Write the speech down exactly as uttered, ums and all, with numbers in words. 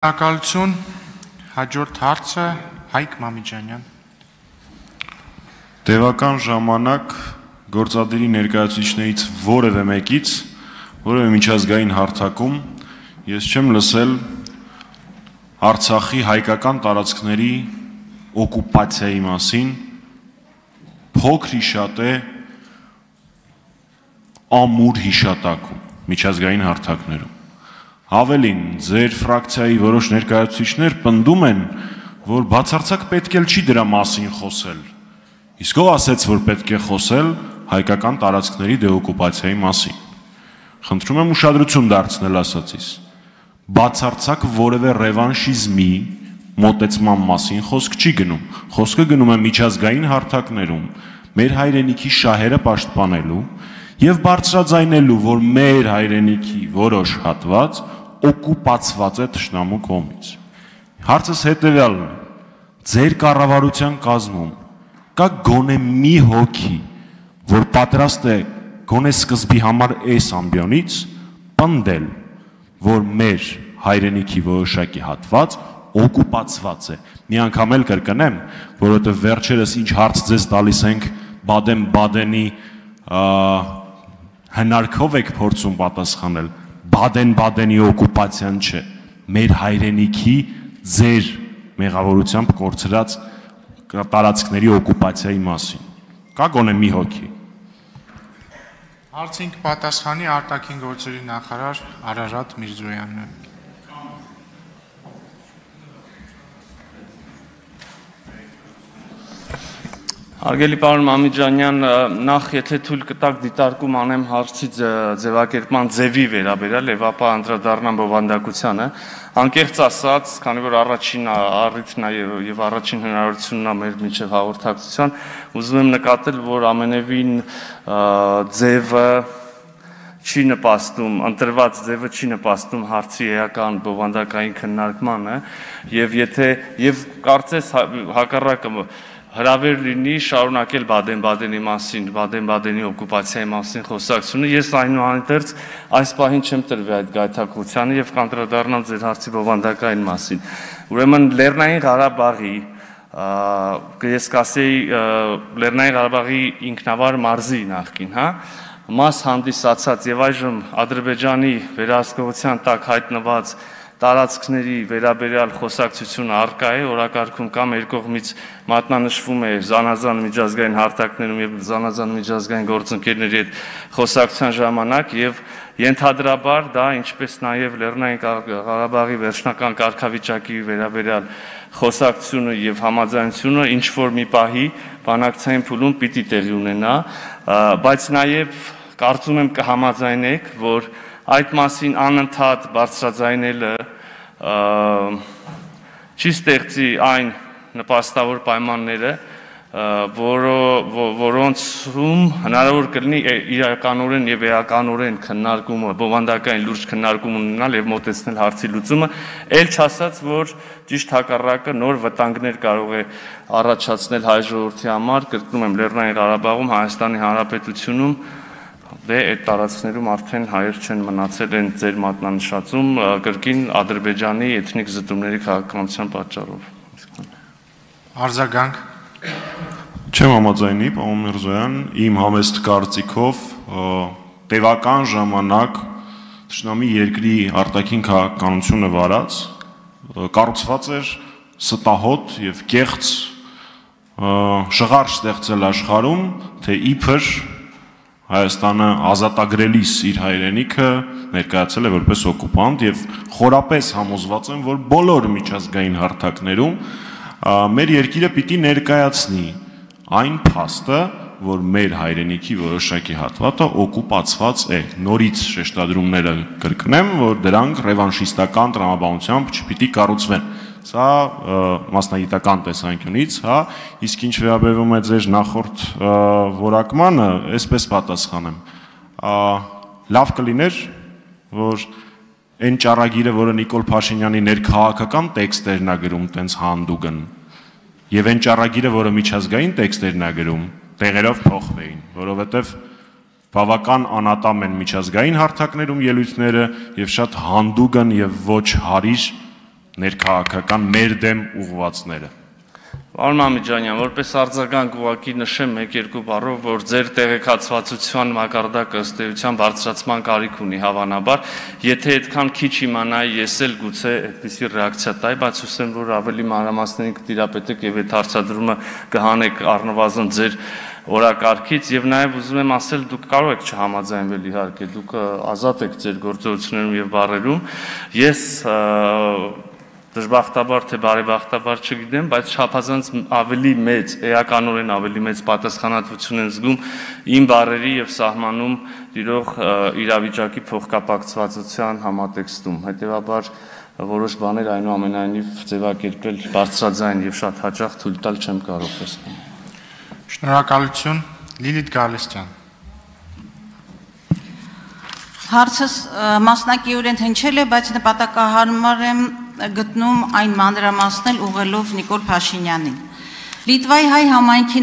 Շնորհակալություն, հաջորդ հարցը Հայկ Մամիջանյան։ Տևական ժամանակ գործադիրի ներկայացուցիչներից որևէ մեկից, որևէ միջազգային հարթակում ես չեմ լսել Արցախի հայկական տարածքների օկուպացիայի մասին, փոքր հիշատե ամուր հիշատակում միջազգային հարթակներում։ Ավելին, ձեր ֆրակցիայի որոշ ներկայացուցիչներ պնդում են, որ բացարձակ պետք էլ չի դրա մասին խոսել։ Իսկ ով ասեց, որ պետք է խոսել հայկական տարածքների դեօկուպացիայի մասին։ Խնդրում եմ ուշադրություն դարձնել ասածիս։ Բացարձակ որևէ ռևանշիզմի մոտեցման մասին խոսք չի գնում։ Խոսքը գնում է միջազգային հարթակներում մեր հայրենիքի շահերը պաշտպանելու եւ բարձրաձայնելու, որ մեր հայրենիքի որոշ հատված օկուպացված է թշնամու կողմից։ Հարցս հետևյալն է. ձեր կառավարության կազմում կա գոնե մի հոգի, որ պատրաստ է գոնե սկզբի համար այս ամբիոնից պնդել, որ մեր հայրենիքի որոշակի հատված օկուպացված է։ Մի անգամ էլ կրկնեմ, որովհետև վերջերս ինչ հարց ձեզ տալիս ենք Բադեն-Բադենի հնարքով եք փորձում պատասխանել, Բադեն-Բադենի օկուպացիան չէ, մեր հայրենիքի ձեր մեղավորությամբ կորցրած տարածքների օկուպացիայի մասին։ Կա գոնե մի հոգի։ Հարցին պատասխանի արտաքին գործերի նախարար Արարատ Միրզոյանն է։ Հարգելի պարոն Մամիջանյան, նախ եթե թույլ կտաք դիտարկում անեմ հարցի ձևակերպման ձևի վերաբերյալ եւ ապա անդրադառնամ բովանդակությանը, անկեղծ ասած, քանի որ առաջին առիթն է եւ առաջին հնարավորությունն է մեր միջև հաղորդակցության, ուզում եմ նկատել, որ ամենևին ձևը չի նպաստում, ընտրված ձևը չի նպաստում հարցի էական բովանդակային քննարկմանը եւ եթե եւ կարծես հակառակը հրավեր լինի շարունակել Բադեն-Բադենի մասին, Բադեն-Բադենի օկուպացիայի մասին խոսակցությունը, ես այնուհանդերձ այս պահին չեմ տրվի այդ գայթակղությանը եւ կանդրադառնամ ձեր հարցի բովանդակային մասին։ Ուրեմն Լեռնային Ղարաբաղի, ես կասեի Լեռնային Ղարաբաղի ինքնավար մարզի նախկին, հա, մաս հանդիսացած եւ այժմ Ադրբեջանի վերահսկողության տակ հայտնված տարածքների վերաբերյալ խոսակցությունը առկա է, օրակարգում կամ երկու կողմից մատնանշվում է զանազան միջազգային հարթակներում եւ զանազան միջազգային գործընկերների հետ խոսակցության ժամանակ եւ ենթադրաբար դա ինչպես նաեւ Լեռնային Ղարաբաղի վերջնական կարգավիճակի վերաբերյալ խոսակցությունը եւ համաձայնությունը ինչ որ մի պահի բանակցային փուլում պիտի տեղի ունենա, բայց նաեւ կարծում եմ կհամաձայնեք, որ այդ մասին անընդհատ բարձրաձայնելը չի ստեղծի այն նպաստավոր պայմանները, որոնցում հնարավոր կլինի իրականորեն եւ էականորեն քննարկումը, բովանդակային լուրջ քննարկում ունենալ եւ մոտեցնել հարցի լուծումը, ել չասած, որ ճիշտ հակառակը նոր վտանգներ կարող է առաջացնել հայ ժողովրդի համար, կրկնում եմ, Լեռնային Ղարաբաղում, Հայաստանի Հանրապետությունում դե այդ տարածքներում արդեն հայեր չեն մնացել են ձեր մատնանշածում կրկին Ադրբեջանի էթնիկ զտումների քաղաքականության պատճառով։ Արձագանք։ Չեմ համաձայնի, պարոն Միրզոյան, իմ համեստ կարծիքով տևական ժամանակ թշնամի երկրի արտաքին քաղաքականությունը վարած կառուցված էր ստահոդ եւ կեղծ շղարշ ստեղծել աշխարհում, թե իբր Հայաստանը ազատագրելիս իր հայրենիքը ներկայացել է որպես օկուպանտ եւ խորապես համոզված եմ, որ բոլոր միջազգային հարթակներում մեր երկիրը պիտի ներկայացնի այն փաստը, որ մեր հայրենիքի որոշակի հատվածը օկուպացված է։ Նորից շեշտադրումները կրկնեմ, որ դրանք ռևանշիստական տրամաբանությամբ չպիտի կառուցվեն։ Սա մասնագիտական տեսանկյունից, հա, իսկ ինչ վերաբերում է ձեր նախորդ որակմանը, այսպես պատասխանեմ։ Լավ կլիներ, որ այն ճառագիրը, որը Նիկոլ Փաշինյանի ներքաղաքական տեքստերն է գրում, տենց հանդուգն, եւ այն ճառագիրը, որը միջազգային տեքստերն է գրում, տեղերով փոխվեին, որովհետեւ բավական անատամ են միջազգային հարթակներում ելույթները եւ շատ հանդուգն եւ ոչ հարիր ներքաղաքական մեր դեմ ուղղվածները։ Պարոն Մամիջանյան, որպես արձագանք ուղղակի նշեմ մեկ-երկու բառով, որ ձեր տեղեկացվածության մակարդակը ըստ էության բարձրացման կարիք ունի հավանաբար, եթե այդքան քիչ իմանայի, ես էլ գուցե այդպիսի ռեակցիա տայի, բայց հուսեմ, որ ավելի մանրամասներին կտիրապետեք եւ այդ հարցադրումը կհանեք առնվազն ձեր օրակարգից եւ նաեւ ուզում եմ ասել, դուք կարող եք չհամաձայնվել իհարկե, դուք ազատ եք ձեր գործողություններում եւ բառերում։ Ես դժբախտաբար թե բարեբախտաբար չգիտեմ, բայց չափազանց ավելի մեծ, էականորեն ավելի մեծ պատասխանատվություն են զգում իմ բառերի եւ սահմանում տիրող իրավիճակի փոխկապակցվածության համատեքստում։ Հետևաբար որոշ բաներ այնուամենայնիվ ձևակերպել բարձրաձայն եւ շատ հաճախ թույլ տալ չեմ կարող տեսնել։ Շնորհակալություն, Լիլիթ Գալստյան։ Հարցս մասնակիորեն հնչել է, բայց նպատակահարմար եմ գտնում այն մանրամասնել ուղղելով Նիկոլ Փաշինյանին։ Լիտվայի հայ համայնքի